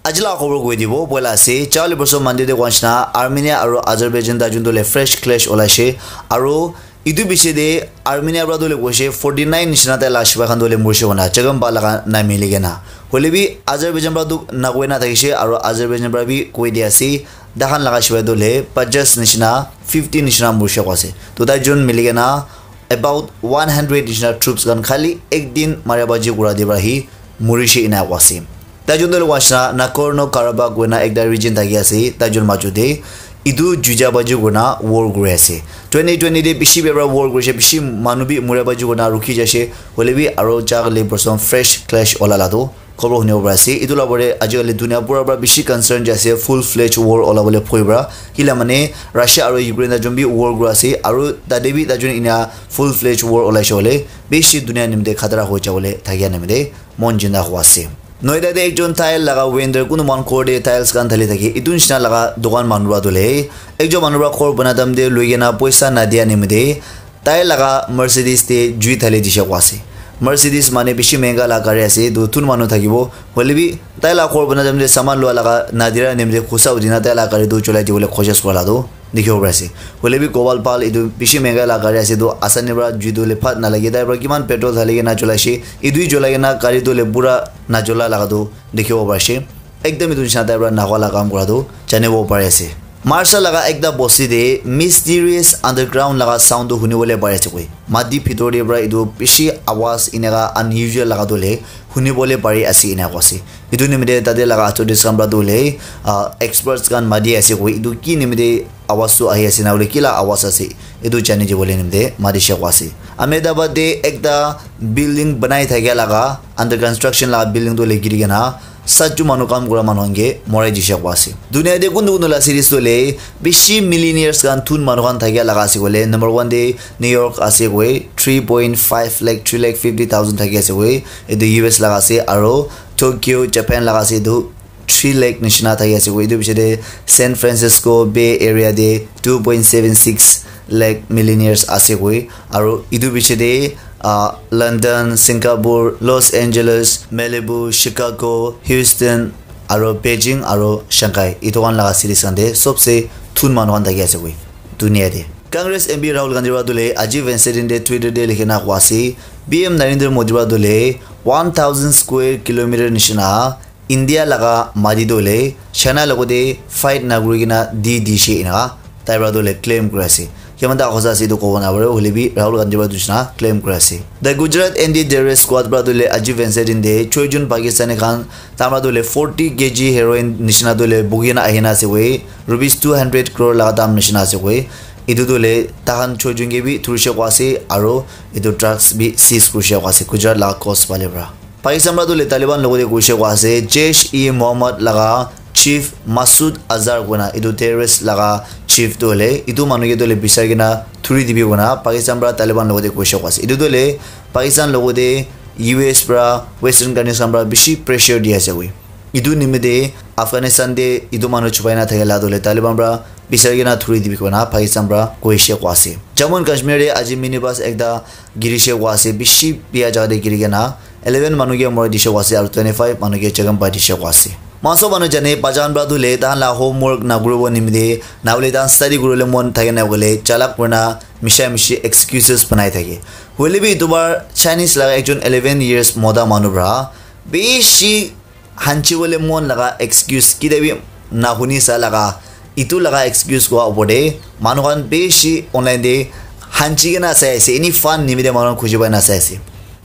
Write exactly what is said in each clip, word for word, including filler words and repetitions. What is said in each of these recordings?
Aji la khobor koi dibo, boila ase. Charli borso Monday te koa nishina, Armenia aru Azerbaijan ta jun tu le fresh clash olaishe. Aru etu piche te Armenia pra tu le koishe forty nine nishina tai la shipai khan tu le murshe kona, chagam ba laga na mili kena. Hoile bi Azerbaijan pra tu na koi na thakishe, aru Azerbaijan pra bi koi di ase. Dahan laga shipai tu le pajas nishina, fifty nishina murshe ko ase. Tu tai jun mili kena about one hundred nishina troops khan khali ek din maria baji kura de pra hi murishe ina ko ase. Tai jun tu le koa nishina Nagorno Karabakh koina ekta region thaki ase, tai jun maju te etu juja baji koina war kuri ase. Twenty twenty te bishi bebra war kurishe, bishi manu bi muria baji koina rukhi jaishe, hoile bi aro jagale person fresh clash ola la tu khobor hunibo pari ase. Etu la pore ajikali dunia pura pra bishi concern jai ase full fledged war ola bole bhoi pra. Kila mane Russia aro Ukraine ta jun bi war kuri ase, aro tate bi tai jun ina full fledged war olaishe hoile bishi dunia nimite khatara hoi jabole thakia nimite mon jinda hua ase. Noida te ekjon tile laga vendor kunu mon ghor te tiles khan thali thaki etu nishina laga dukan manu pra tu le ekjon manu pra ghor bana dam te lui kena poisa na dia nimite tai laga Mercedes te jui thali dishe ko ase. Mercedes mane bishi mehenga la gari ase, etu thun manu thakibo. Hoile bi tai la ghor bana time te saman lua laga nadira nimite khusa udina tai la gari tu cholai dibole koshish kura la tu dikhibo pari ase. Hoile bi Gopal Pal etu bishi mehenga la gari ase, etu asani pra jui tu le phat nalage, tai pra kiman petrol thali kena cholai she, etu hi cholai kena gari tu le pura na chola laga tu dikhibo pari ase. Ekdam etu nishina tai pra nahwa la kam kura tu janibo pari ase. Marsa laga ekta bosti te mysterious underground laga sound tu huni bole pari ase koi. Mati bhitor te pra etu bishi awaz eneka unusual laga tu le huni bole pari ase ena ko ase. Etu nimite tate laga authorities khan pra tu le, ah, experts khan mati ase koi. Etu ki nimite awaz tu ahi ase na hoile ki la awaz ase, etu jani dibole nimite mati she ko ase. Ahmedabad te ekta building banai thakia laga under construction laga building tu le giri kena sat ju manu kam kura manu khan ke morai dishe ko ase. Dunia te kuntu kuntu la cities tu le bishi millionaires khan thun manu khan thakia laga ase koile number one te New York ase koi three point five lakh, three lakh fifty thousand thaki ase koi. Etu U S laga ase, aro Tokyo, Japan laga ase etu three lakh nishina thaki ase koi. Etu piche te San Francisco Bay Area te two point seven six lakh millionaires ase koi. Aro etu piche te, ah, London, Singapore, Los Angeles, Malibu, Chicago, Houston, aro Beijing, aro Shanghai. Etu khan laga cities khan te sobse thun manu khan thaki ase koi dunia te. Congress M P Rahul Gandhi pra tu le aji Wednesday din te Twitter te likhi na koa ase, P M Narendra Modi pra tu le one thousand square kilometer nishina India laga mati tu le China logote fight na kuri kena di dishe ena tai pra tu le claim kuri ase. Kiman ta hosa ase etu kobo na pare, hoile bi Rahul Gandhi pra tu nishina claim kuri ase. The Gujarat Anti-Terrorist Squad pra tu le aji Wednesday din te choi jun Pakistani khan tai pra tu le forty K G heroin nishina tu le bugi na ahina ase koi, rupees two hundred crore laga dam nishina ase koi. Etu tu le tahan choi jun ke bi thurishe koa ase, aro etu drugs bi seize kurishe koa ase Gujarat laga coast phale pra. Pakistan pra tu le Taliban logote kurishe koa ase, Jaish-e-Mohammed laga chief Masood Azhar koina etu terrorist laga chief tu hoile etu manu ke tu hoile bisai kena thuri dibi koina Pakistan pra Taliban logote kurishe koa ase. Etu tu hoile Pakistan logote U S pra Western countries khan pra bishi pressure di ase koi. Etu nimite Afghanistan te etu manu chupai na thakila tu hoile Taliban pra bisai kena thuri dibi koina Pakistan pra kurishe koa ase. Jammu and Kashmir te aji minibus ekta girishe koa ase, bishi bia jaga te giri kena eleven manu ke mori dishe koa ase, aru twenty five manu ke jakham pai dishe koa ase. Maso manu jane bajan pra tu le tahan la homework na kuribo nimite, na hoile tahan study kuribole mon thake na hoile chalak kurina misha mishi excuses banai thake. Hoile bi etu bar Chinese laga ekjon eleven years mota manu pra bishi hanchi bole mon laga excuse kide bi na huni sa laga, etu laga excuse koa opor te manu khan bishi online te hanchi kena sai ase, any fun nimite manu khan khuji pai na sai ase.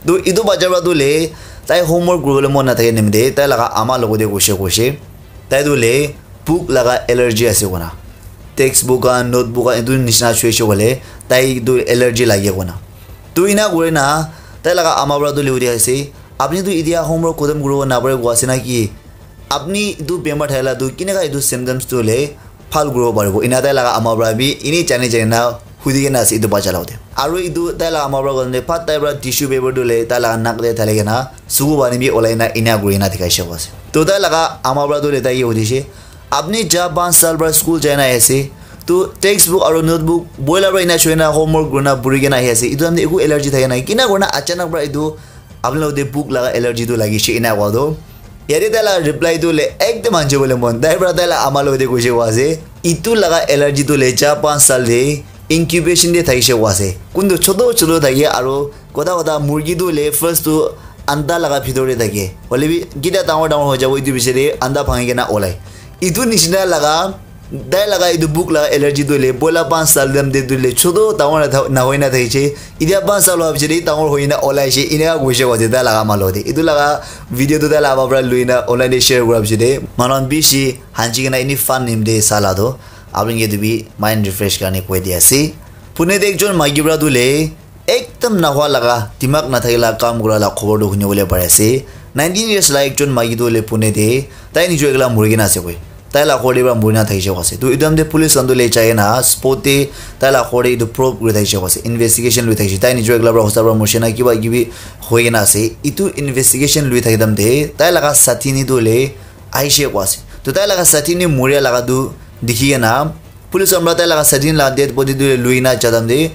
To etu bacha pra tu le tai homework kuribole mon na thake nimite tai laga ama logote koishe koishe tai tu le book laga allergy ase koina, textbook khan, notebook khan etu nishina chuishe koile tai tu allergy lage koina. To ina kuri na tai laga ama pra tu le hudi ase, apni tu itia homework khotom kuribo napare koa ase na ki? Apni etu bemar thaila tu kineka etu symptoms tu hoile bhal kuribo paribo? Ena tai laga ama pra bi eni jani jani na hudi kena ase etu bacha la hote. Aru etu tai laga ama pra koile phat tai pra tissue paper tu hoile tai laga nak te thali kena suku pani bi olai na ena kuri na dikhai she koa ase. To tai laga ama pra tu hoile tai ke hudishe, apni ja panch saal pra school jai na ahi ase, to textbook aru notebook boila pra ena choi na homework kurina puri kena ahi ase, etu time te eku allergy thake nai, kina kurina achanak pra etu apni logote book laga allergy tu lagishe ena koa tu Yate tai la reply tu le ekdam hanji bole mon. Tai pra tai la ama lo de kuishe kwa ase. Itu laga allergy tu le cha panch sal de incubation de thakishe kwa ase. Kuntu choto choto thake aro kota kota murgi tu le first tu anda laga bhitor de thake. Hoile bi kita dangor dangor hoi jabo itu bichari anda bhangi kena olai. Itu nishina laga tai laga itu book laga allergy tu le boila panch sal dam de tu le choto dangor na tha- na hoi na thakishe. Itia panch sal hoa bichari dangor hoi na olai she ina kuishe kwa ase tai laga ama lo de. Itu laga video tu tai laga ama pra lui na online de share kura bichari. Manon bishi hanji kena ini fun nim de sala do. Apni ke tu bi mind refresh karne koi di ase. Pune de ekjon maiki pra tu le ekdam nahwa laga, dimag nathakila kam kura la khobor tu huni bole pare ase. Nineteen years la ekjon maiki tu le Pune de, tai nijor ekla muri kena ase koi. Tai la khor de pra muri na thakishe kwa ase. Tu idam de police khan tu le jai na spot de tai la khor de itu probe kuri thakishe kwa ase. Investigation lui thakishe. Tai nijor ekla pra hosa pra murshe na kiba kibi hoi kena ase. Itu investigation lui thakidam de tai laga sathi ni tu le aishe kwa ase. Tu tai laga sathi ni muria laga tu dikhi kena police khan pra tai laga sathi ni laga dead body tu le lui na jadam de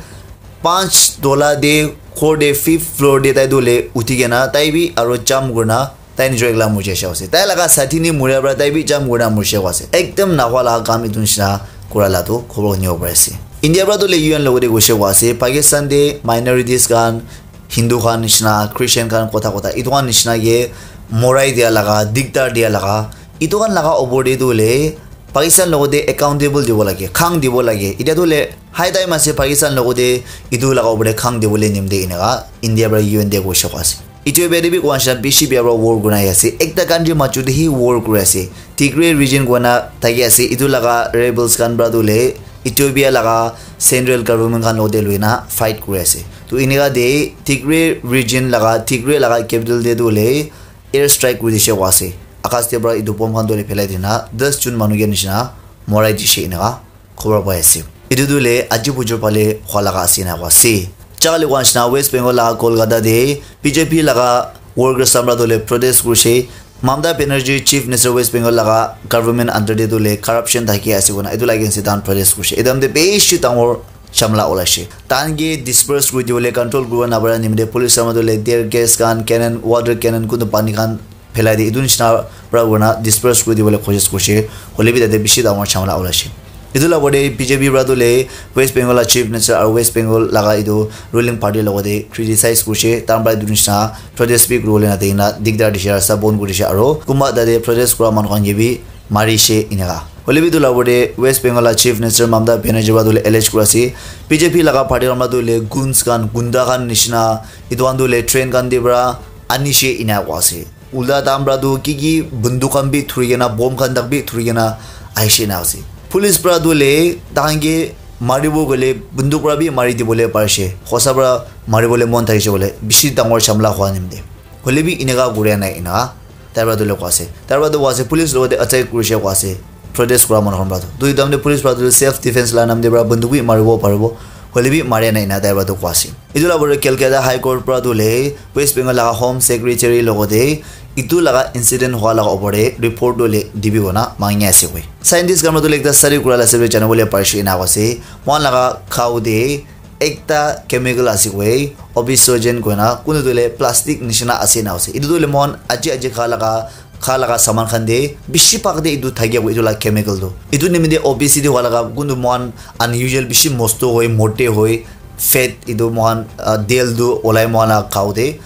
panch tola de khor de fifth floor de tai tu le uthi kena tai bi aro jump kurna tai nijor ekla murja sha ase. Tai laga sathi ni muria pra tai bi jump kurna murja kwa ase. Ekdam nahwa laga kam itu nishina kura la tu khobor huni bole pare ase. India pra tu le U N logo de kuishe kwa ase. Pakistan de minorities khan, Hindu khan nishina, Christian khan kotha kotha. Itu khan nishina ke morai dia laga, diktar dia laga. Itu khan laga opor de tu le Pakistan logo de accountable dibo lage, khang dibo lage. Itia tu le high time ase Pakistan logo de itu laga opor de khang dibo le nim de inaka India pra U N de kuishe kwa ase. Ethiopia de bi koan sha bishi bia pra war guna ase. Ekta country machu de hi war kuri ase. Tigray region koina thaki ase. Itu laga rebels khan pra tu le Ethiopia laga central government khan lo de lui na fight kuri ase. Tu inika de Tigray region laga, Tigray laga capital de tu le air strike kuri dishe kwa ase. Akas de pra itu bomb khan tu le phelai dina das jun manu ke nishina morai dishe inaka khobor pai ase. Itu tu le aji bujur pale khwa laga ase na kwa ase. Chakali kwa nishina West Bengal laga Kolkata de B J P laga workers samra tu le protest kurishe. Mamata Banerjee Chief Minister West Bengal laga government under de tu le corruption thaki ase koina itu laga against de tahan protest kurishe. Etu time de bishi dangor jhamla olaishe. Tahan ke disperse kuri dibole control kuribo napara nimite police samra tu le tear gas khan, cannon, water cannon, kuntu pani khan phelai de etu nishina pra kurina disperse kuri dibole kosis kurishe, hoile bi tate bishi dangor jhamla olaishe. Etu la opor de B J P pra tu le West Bengal la Chief Minister aru West Bengal laga etu ruling party logote criticize kurishe, tahan pra etu nishina protest bi kuribole na dikina dikdar dishe, rasta bon kuri dishe aru kunba tate protest kura manu khan ke bi marishe eneka. Hoile bi etu la opor de West Bengal la Chief Minister Mamata Banerjee pra tu le allege kuri ase, B J P laga party khan pra tu le goons khan, gunda khan nishina etu khan tu le train khan de pra anishe ena koi ase. Ulta tahan pra tu ki ki bunduk khan bi thuri kena, bomb khan tak bi thuri kena ahishe na ase. Police pra tu le tahan ke maribo koile bunduk pra bi mari dibole parishe. Hosa pra maribole mon thakishe koile bishi dangor jhamla hua nimite. Hoile bi eneka kuria nai ena tai pra tu le koi ase. Tai pra tu koi ase police logote attack kurishe koi ase. Protest kura manu khan pra tu. Tu etu time te police pra tu self defense la nam te pra bunduk bi maribo paribo. Hoile bi maria nai ena tai pra tu koi ase. Etu la opor de Calcutta High Court pra tu le West Bengal laga Home Secretary logote etu laga incident hua laga opor de report tu le dibi koina mangi ase koi. Scientist khan pra tu le ekta study kura la ase koile jana bole parishe ena koi ase. Moikhan laga khao de ekta chemical ase koi, obesogen koina, kuntu tu le plastic nishina ase na ase. Etu tu le moikhan aji aji kha laga kha laga saman khan de bishi bhag de etu thakia etu la chemical tu. Etu nimite obesity hua laga kuntu moikhan unusual bishi mosto hoi, mote hoi, fat etu moikhan, ah, del tu olai moikhan la khao de.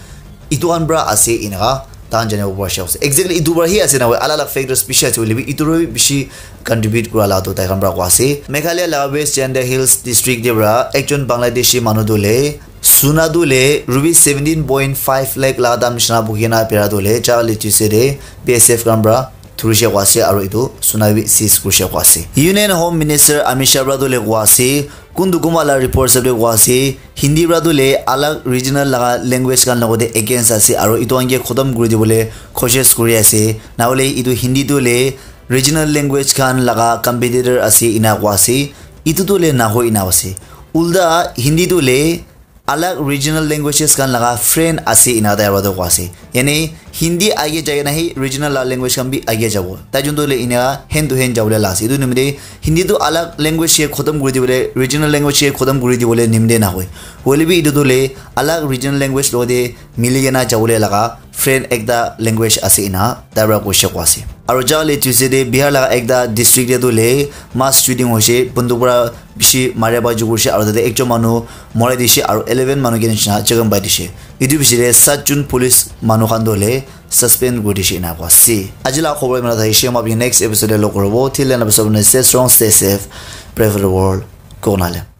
Etu khan pra ase eneka tahan janibo parishe ase. Exactly etu pra hi ase na hoi, alak alak factors bishi ase hoile bi etu pra bi bishi contribute kura la tu tai khan pra koi ase. Meghalaya la West Jaintia Hills district de pra ekjon Bangladeshi manu tu le suna tu le rupees seventeen point five lakh la dam nishina buki na pera tu le cha le chise de B S F khan pra thurishe koi ase aru etu suna bi seize kurishe koi ase. Union Home Minister Amit Shah pra tu le koi ase, kuntu kunba la report hisab de koi ase, Hindi pra tu le alag regional laga language khan logote against ase aru etu khan ke khotom kuri dibole kosis kuri ase. Na hole etu Hindi tu le regional language khan laga competitor ase ena koi ase. Etu tu le nahoi ena ase. Ulta Hindi tu le alag regional languages khan laga friend ase ena tai pra tu koi ase. Yani Hindi age jai na hi regional la language khan bi age jabo. Tai jun tu le ina hand to hand jabo le la ase. Etu nimite Hindi tu alag language ke khotam kuri dibole, regional language ke khotam kuri dibole nimde na hoi. Hoile bi etu tu le alag regional language lo de mili kena jabo le laga friend ekta language ase ina tai para koise ko ase. Aru ja le Tuesday de Bihar laga ekta district de tu le mass shooting hoise, bunduk para bishi maria ba jugur se aru tate ekjon manu morai dise aru eleven manu ke nishina chegan pai dise. Etu bishi de sat jun police manu khan tu le suspend kuri dise ina ko ase. Aji la khobor imana thakise, ma bi next episode de log koribo. Till then, stay strong, stay safe, pray for the world. Konale.